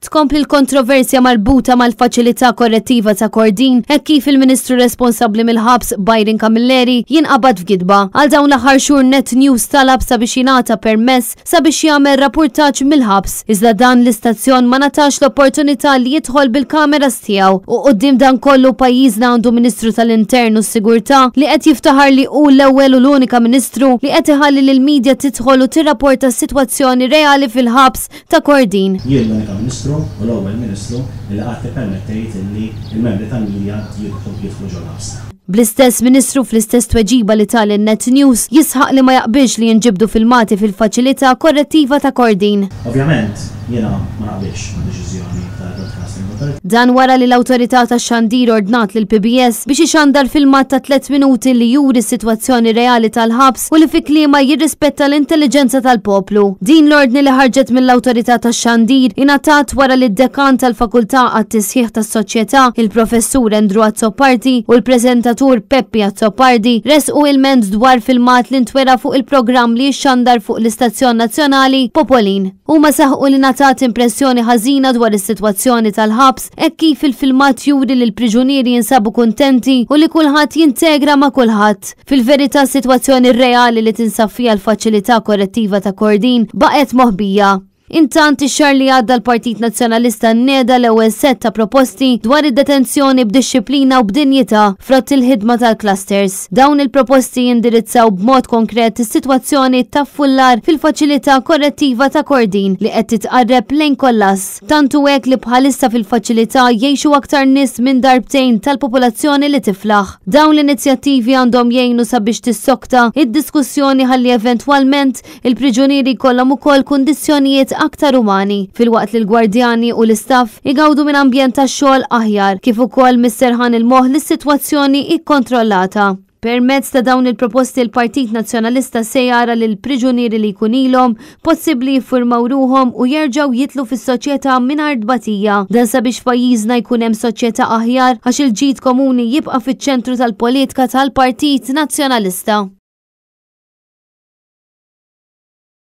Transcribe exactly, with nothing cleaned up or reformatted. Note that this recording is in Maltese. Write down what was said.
Tkompli l-kontroversja marbuta mal-faċilità korrettiva ta' Kordin hekk kif il-Ministru responsabbli mill-ħabs Byron Camilleri jinqabad f'gidba. Għal dawn l-aħħar xhur Net News talab sabiex jingħata permess sabiex jagħmel rapportaġġ mill-ħabs. Iżda dan l-istazzjon ma ngħatax l-opportunità li jidħol bil-kameras tiegħu. U quddiem dan kollu pajjiżna għandu Ministru tal-Intern u s-Sigurtà li qed jiftaħar li hu l-ewwel u l-unika Ministru li qed iħalli lill-medja tidħol u tirrapporta s-sitwazzjoni reali fil-ħabs ta' Kordin. Jien l-unika Ministru u l-ewwel Ministru li qatt ippermettejt li l-membri tal-media jidħlu jidħlu ġol-ħabs. Bl-istess Ministru fl-istess tweġiba li ta lil Net News jisħaq li ma jaqbilx li jinġibdu filmati fil-faċilità korrettiva ta' Kordin. Ovvjament, jiena ma naqbilx ma' deċiżjoni tal-Broadcasting Authority. Dan wara li l-awtorità tax-xandir ordnat lil P B S biex ixandar filmat ta' tliet minuti li juri s-sitwazzjoni reali tal-ħabs u li fi kliemu jirrispetta l-intelligenza tal-poplu. Din l-ordni li ħarġet mill-awtorità tax-xandir ingħatat wara li d-dekan tal-Fakultà għat-Tisħiħ tas-Soċjetà, il-Professur Andrew Azzopardi, u l-preżentatur Peppi Azzopardi resqu ilment dwar filmat li ntwera fuq il-programm li xandar fuq l-Istazzjon Nazzjonali Popolin. Huma saħqu li ngħatat impressjoni ħażina dwar is-sitwazzjoni tal-ħabs hekk kif il-filmat juri li l-priġunieri jinsabu kuntenti u li kulħadd jintegra ma' kulħadd. Fil-verità, sitwazzjoni reali li tinsab fiha l-faċilità korrettiva ta' Kordin baqgħet moħbija. Intant, ix-xahar li għadda l-Partit Nazzjonalista neda l-ewwel set ta' proposti dwar id-detenzjoni b'dixxiplina u b'dinjità frott il-ħidma tal-clusters. Dawn il-proposti jindirizzaw b'mod konkret is-sitwazzjoni ta' fullar fil-faċilità korrettiva ta' Kordin li qed titqarreb lejn kollass. Tantu hekk li bħalissa fil-faċilità jgħixu aktar nies minn darbtejn tal-popolazzjoni li tiflaħ. Dawn l-inizjattivi għandhom jgħinu sabiex tissokta id-diskussjoni ħalli eventwalment il-priġunieri jkollhom ukoll kundizzjonijiet aktar umani, filwaqt li l-gwardjani u l-istaff igawdu minn ambjent ta' xogħol aħjar kif ukoll mis-serħan il-moħħ li s-sitwazzjoni ikkontrollata. Permezz ta' dawn il-proposti, l-Partit Nazzjonalista se jara li l-priġunieri li jkun ilhom possibbli jiffurmaw ruhom u jerġgħu jidħlu fis-soċjetà mingħajr tbatija. Dan sabiex pajjiżna jkun hemm soċjetà aħjar, għax il-ġid komuni jibqa' fiċ-ċentru tal-politika tal-Partit Nazzjonalista.